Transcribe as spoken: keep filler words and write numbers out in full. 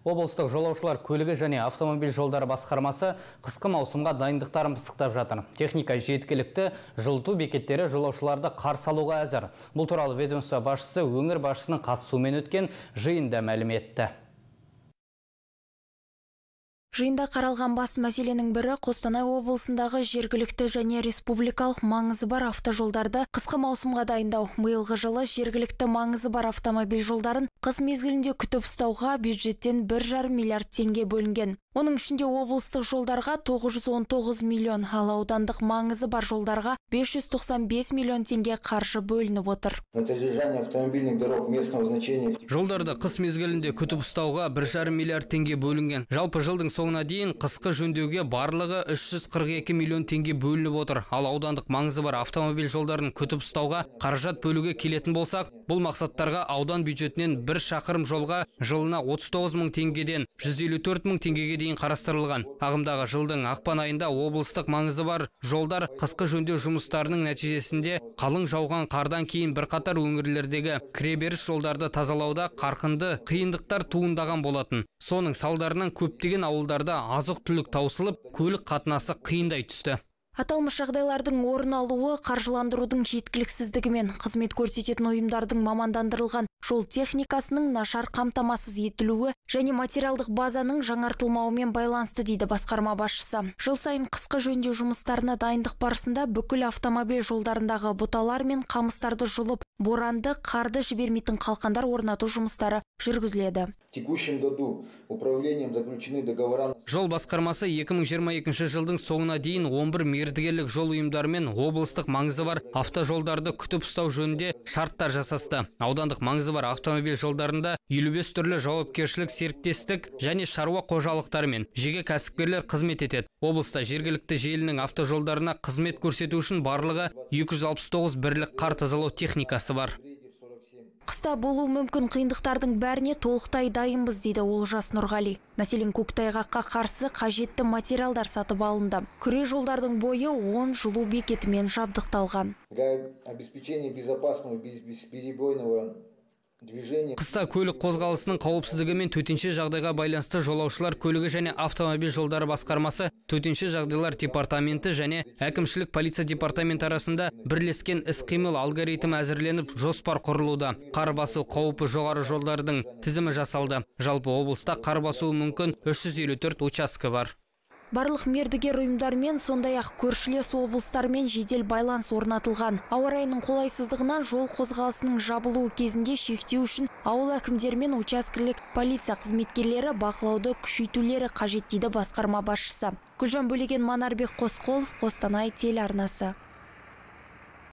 Облыстық жолаушылар көлігі және автомобиль жолдары басқармасы қысқы маусымға дайындықтарын пысықтап жатыр. Техника жеткілікті, жылыту бекеттері жолаушыларды қарсы алуға әзір. Бұл туралы ведомство басшысы өңір басшысының қатысуымен өткен жиында мәлім етті. Жиында қаралған бас мәселенің бірі Қостанай облысындағы жергілікті және республикалық маңызы бар автожолдарды қысқы маусымға дайындау. Биылғы жылы жергілікті маңызы бар автомобиль жолдарын қыс мезгілінде күтіп ұстауға бюджеттен бір жарым миллиард теңге бөлінген. Оның ішінде облыстық жолдарға тоғыз жүз он тоғыз миллион, ал аудандық маңызы бар жолдарға бес жүз тоқсан бес миллион теңге қаржы бөлініп отыр. Жолдарды қыс мезгілінде күтіп ұстауға бір жарым миллиард теңге бөлінген. Жалпы жылдың соңына дейін қысқы жөндеуге барлығы үш жүз қырық екі миллион теңге бөлініп отыр. Ал аудандық маңызы бар автомобиль жолдарын күтіп ұстауға қаражат бөлуге келетін болсақ, бұл мақсаттарға аудан бюджетінен бір шақырым жолға жылына отыз тоғыз мың теңгеден жүз елу төрт мың теңгеге дейін қарастырылған. Ағымдағы жылдың ақпан айында облыстық маңызы бар жолдар қысқы жөндеу жұмыстарының нәтижесінде қалың жауған қардан кейін бірқатар өңірлердегі кіреберіс жолдарды тазалауда қарқынды қиындықтар туындаған болатын. Соның салдарынан көптеген ауылдарда азық-түлік таусылып, көлік қатынасы қиындай түсті. Аталмыш жағдайлардың орын алуы қаржыландырудың жеткіліксіздігімен қызмет көрсететін ұйымдардың мамандандырылған жол техникасының нашар қамтамасыз етілуі және материалдық базаның жаңартылмауымен байланысты, дейді басқарма басшысы. Жыл сайын қысқы жөндеу жұмыстарына дайындық барысында бүкіл автомобиль жолдарындағы бұталар мен қамыстарды жұлып, боранды, қарды жібермейтін қалқандар орнату жұмыстары жүргізіледі. Жол басқармасы екі мың жиырма екінші жылдың соңына дейін он бір мердігерлік жол ұйымдарымен облыстық маңызы бар автожолдарды күтіп ұстау жөнінде шарттар жасасты. Аудандық маңызы бар автомобиль жолдарында елу бес түрлі жауапкершілік серіктестік және шаруа қожалықтары мен жеке кәсіпкерлер қызмет етеді. Облыста жергілікті желінің автожолдарына қызмет көрсету үшін барлығы екі жүз алпыс тоғыз бірлік қар тазалау техникасы бар. Қыста болуы мүмкін қиындықтардың бәріне толықтай дайынбыз, дейді Олжас Нұрғали. Мәселен, көктайғаққа қарсы қажетті материалдар сатып алынды. Күре жолдардың бойы он жылу бекетімен жабдықталған. Қыста көлік қозғалысының қауіпсіздігі мен төтенше жағдайға байланысты жолаушылар көлігі және автомобиль жолдары басқармасы, төтенше жағдайлар департаменті және әкімшілік полиция департаменті арасында бірлескен іс-қимыл алгоритмі әзірленіп, жоспар құрылуда. Қар басу қаупі жоғары жолдардың тізімі жасалды. Жалпы облыста қар басуы мүмкін үш жүз елу төрт учаске бар. Барлық мердігер ұйымдармен, сондай-ақ көршілес облыстармен жедел байланыс орнатылған. Ауа райының қолайсыздығынан жол қозғалысының жабылуы кезінде шектеу үшін ауыл әкімдерімен учаскелік полиция қызметкерлері бақылауды күшейтулері қажет, дейді басқарма басшысы. Гүлжан Бөлеген, Манарбек Қосқолов, Қостанай телеарнасы.